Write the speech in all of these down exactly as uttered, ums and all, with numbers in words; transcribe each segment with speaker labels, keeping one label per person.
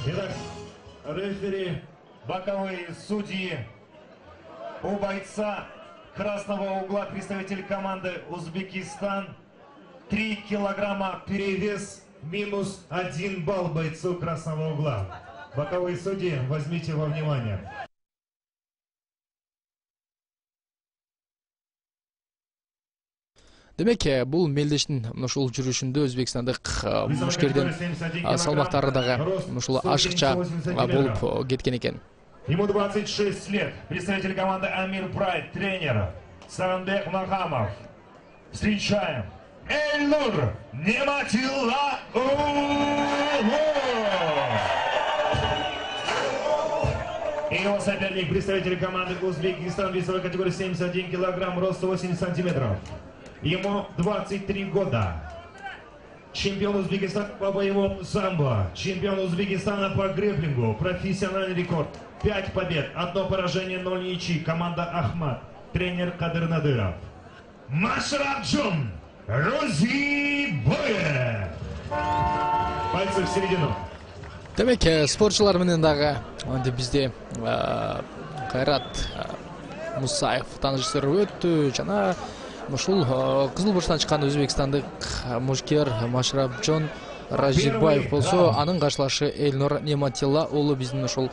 Speaker 1: Итак, рефери, боковые судьи. У бойца красного угла представитель команды Узбекистан. три килограмма перевес, минус один балл бойцу красного угла. Боковые судьи, возьмите во внимание.
Speaker 2: Демек, бул мелдештин ушул жүрүшүндө Өзбекстандык мушкердин салмактары дагы ушул ашыкча болуп кеткен экен.
Speaker 1: Ему двадцать шесть лет. Представитель команды Амир Прайд, тренер Саранбек Махамов. Встречаем Эльнур Нематилла. И его соперник, представитель команды Узбекистан, весовой категории семьдесят один килограмм, рост сто восемьдесят сантиметров. Ему двадцать три года. Чемпион Узбекистана по боевому самбо, чемпион Узбекистана по грэпплингу, профессиональный рекорд. пять побед, одно поражение, ноль ничьи. Команда Ахмат, тренер Кадыр Надыров. Машрабджон Розибаев. Пальцы в середину.
Speaker 2: Демек, спортчулар менен дагы бизде Кайрат Мусаев таанышtырып өттү жана ушул Кызыл Бурчтан чыккан өзбекстандык мушкер Машрабджон Розибаев болсо, анын каршылашы Эльнур Нематилла уулу биздин ушул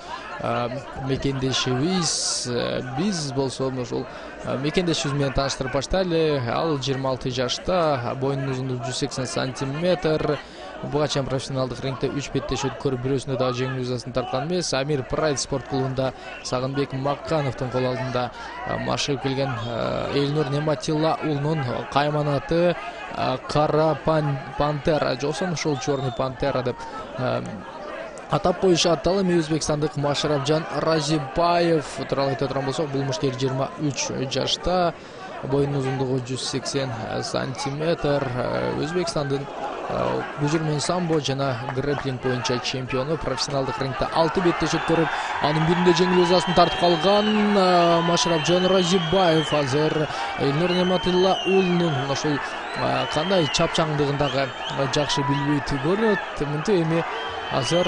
Speaker 2: мекендешибиз. Биз болсо ушул мекендешибиз менен тааныштырып баштайлы. Ал жыйырма алты жашта, боюнун узундугу жүз сексен сантиметр. Буга чейин профессионалдык рингде үч беттеш өткөрүп, бирөөсүндө дагы жеңүү жазасын тарткан эмес. Амир Прайд спорт клубунда Сагынбек Маккановдун кол алдында машыгып келген Эльнур Нематилла уулунун кайманаты Кара Пантера, жосун ушул Черный Пантера деп атап коюшат. Ал эми өзбекстандык Машрабджон Розибаев тууралуу айта турган болсок, бул мушкер жыйырма үч жашта, боюнун узундугу жүз сексен сантиметр. Өзбекстандын көжүрмөн самбо жана грэпплинг боюнча чемпиону, профессионалдык рингде алты беттеш өткөрүп, анын биринде жеңүү жазасын тартып калган Машрабджон Розибаев азыр Эльнур Нематилла уулунун ошол кандай чапчаңдыгын дагы жакшы билбейт көрүнөт. Мынтип эми азыр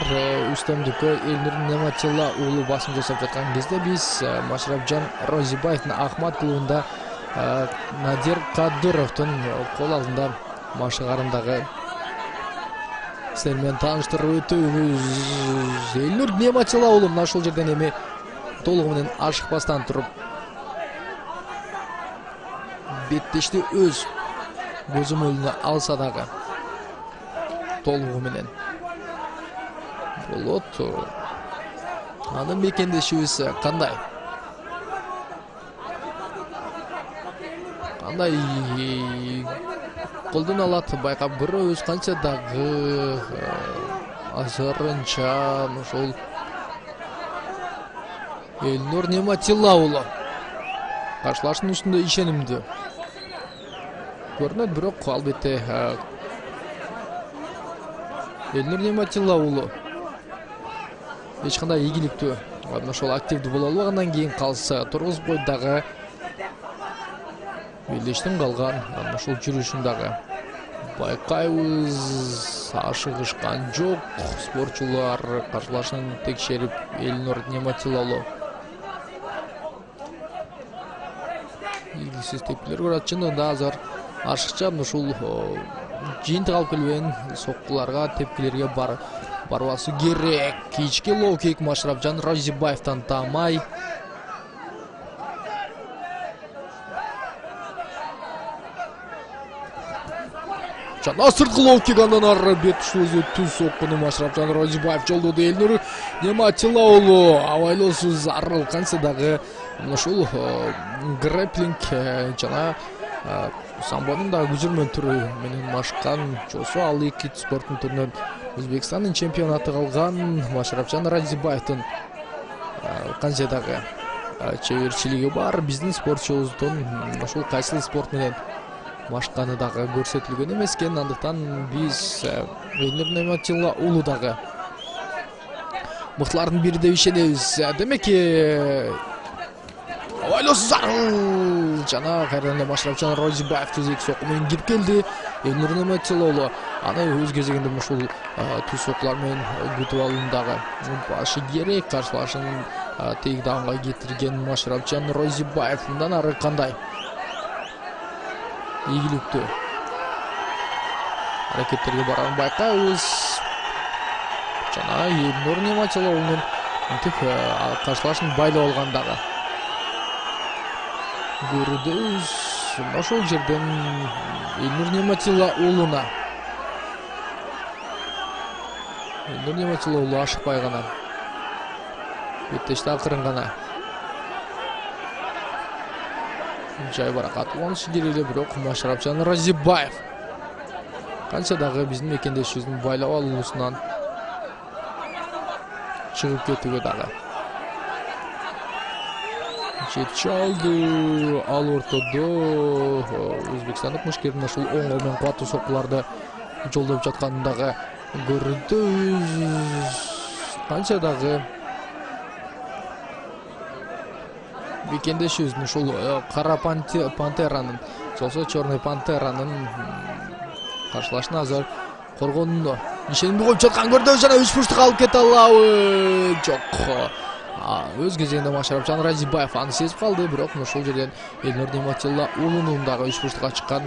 Speaker 2: үстөмдүккө Эльнур Нематилла уулу басым жасап жаткан кезде биз Машрабджон Розибаевдин Ахмат клубунда Надир Кадыровдун кол алдында машыгарындагы силер менен тааныштырып өтөбүз. Эльнур Нематилла уулу мына ушул жерден эми толугу менен ашыкпастан туруп беттешти өз көзөмөлүнө алса дагы толугу менен болот. Анын мекендешибиз кандай? Кандай колдон алат байкап көрөбүз. Канча дагы азырынча ошол Эльнур Нематилла уулу каршылаштын үстүндө ишенимдүү көрүнөт, бирок албетте Эльнур Нематилла уулу эч кандай ийгиликтүү ошол активдүү боло албагандан кийин калса тургузуп койду дагы. Мелдештин калган ушул жүрүшүн дагы байкайбыз. Ашыгышкан жок спортчулар, каршылашын текшерип Эльнур Нематилла уулу ийгиликсиз тепкилер көрөт. Чындыгында азыр ашыкча ушул жыйынтык алып келбеген соккуларга, тепкилерге бар барбасы керек. Кички лоу-кик Машрабджон Розибаевден таамай. Жана сырткы лоу-кик, андан ары бет ушул түз соккуну Машрабджон Розибаев жолдоду. Эльнур Нематилла уулу абайлоосу зарыл. Канча дагы ушул грэпплинг жана самбонун дагы көжүрмөн түрү менен машыккан жосу ал эки спорттун түрүнөн Өзбекстандын чемпионаты калган Машрабджон Розибаевдин канча дагы чеберчилиги бар. Биздин спортчубуздун ушул кайсыл спорт менен машыкканы дагы көрсөтүлгөн эмес экен. Андыктан биз Эльнур Нематилла уулу дагы мыктылардын бири деп ишенебиз. Демек, абайлоосу зарыл жана кайрадан эле Машрабджон Розибаев түз эки сокку менен кирип келди. Элнур Неметилоğlu аны өз кезегинде ушул түз сокулар менен күтүп алуундагы башы керек. Каршылашын тегданга кетирген Машрапчан Розибаев мындан ары кандай ийгиликтүү аракеттерге барарын байкайбыз. Жана Элнур Неметилоğlu'нун мынтип каршылашын байлап алгандагы көрүбүз. Ошол жерден Элнур Неметилоğlu'на Элнур Неметилоğlu ашыкпай гана беттешти акырын гана жай баракат уланышы керек эле, бирок Машрапчан Розибаев канча дагы биздин мекендешибиздин байлап алуусунан чыгып кетүүгө дагы жетчи алды. Ал ортодо өзбекстандык мушкердин ушул оң кол менен кубаттуу соккуларды жолдоп жатканын дагы көрдүбүз. Канча дагы мекендешибиздин ушул кара пантеранын болсо черный пантеранын каршылашына азыр коргонундо ишенимди коюп жаткан көрдүбүз. Жана үч бурчтукка алып кете алабы? Жок. Өз кезегинде Машрапчан Розибаев аны сезип калды, бирок ошол жерден Элнур Неметилоğlu'нун дагы үч бурчтукка чыккан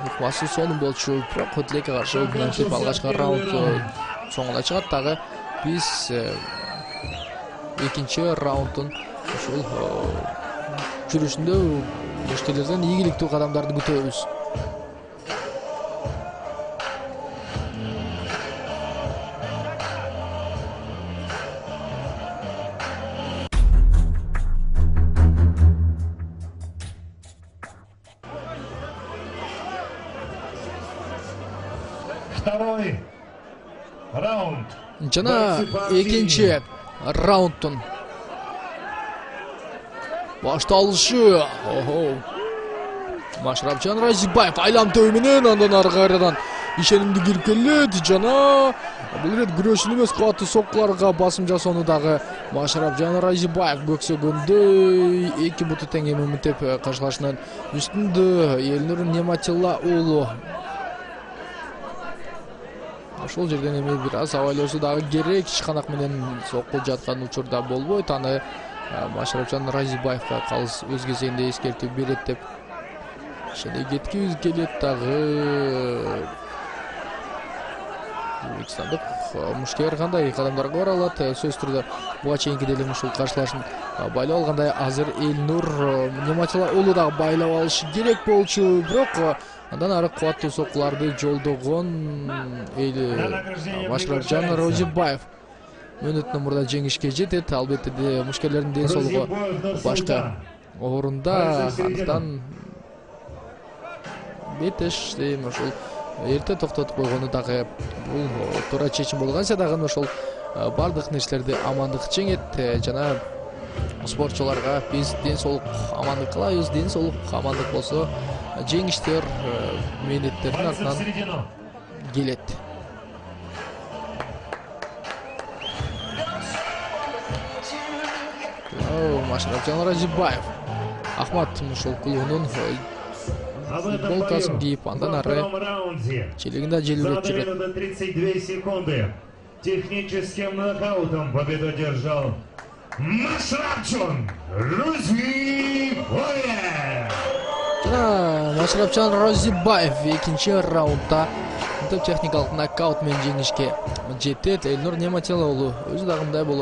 Speaker 2: ыкмасы сонун болчу. Бирок тилекке каршы мынтип алгачкы раунд соңуна чыгат дагы. Биз экинчи раунддун ушул жүрүшүндө мушкерлерден ийгиликтүү кадамдарды күтөбүз.
Speaker 1: Второй раунд.
Speaker 2: Жана экинчи раунддун башталышы. Охо. Машрапчан Розибаев айлантөө менен андан ары кайрадан ишенимди кирип келет. Жана бул рет күрөшүн эмес, кубаттуу соккуларга басым жасоону дагы Машрапчан Розибаев көксөгөндөй. Эки буту тең эмемитеп каршылашынан үстүндө Элнур Неметилоğlu. Ошол жерден эми бир аз абайлоосу дагы керек. Ишканак менен соккул жаткан учурда болбойт. Аны Машрапчан Розибаевга калыс өз кезегинде эскертүү берет деп ишене кеткибиз келет дагы. Өзбекстандык мушкер кандай кадамдарга бара алат? Сөзсүз түрдө буга чейинки деле ушул каршылашын байлап алгандай азыр Элнур Неметилоğlu дагы байлап алышы керек болчу, бирок андан ары кубаттуу соккуларды жолдогон Машрапчан Розибаев мүнөттөн мурда жеңишке жетет. Албетте де мушкерлердин ден соолугу башка орунда, андыктан бетеш дейм ошол эрте токтотуп койгону дагы бул туура чечим болгонса дагы ошол бардык нерселерди амандык жеңет. Жана спортчуларга биз ден соолук амандык кылабыз. Ден соолук амандык болсо жеңиштер мээнеттердин артынан келет. Машрапчан Розибаев Ахмат ушул клубунун футболкасын кийип андан ары челегинде желбиреп жүрөт.
Speaker 1: тридцать две секунды. Техническим нокаутом победу одержал Машрапчан Розибаев.
Speaker 2: Жана Машрапчан Розибаев экинчи раундда техникалык нокаут менен жеңишке жетет. Элнур Неметилоğlu өзү дагы мындай болот.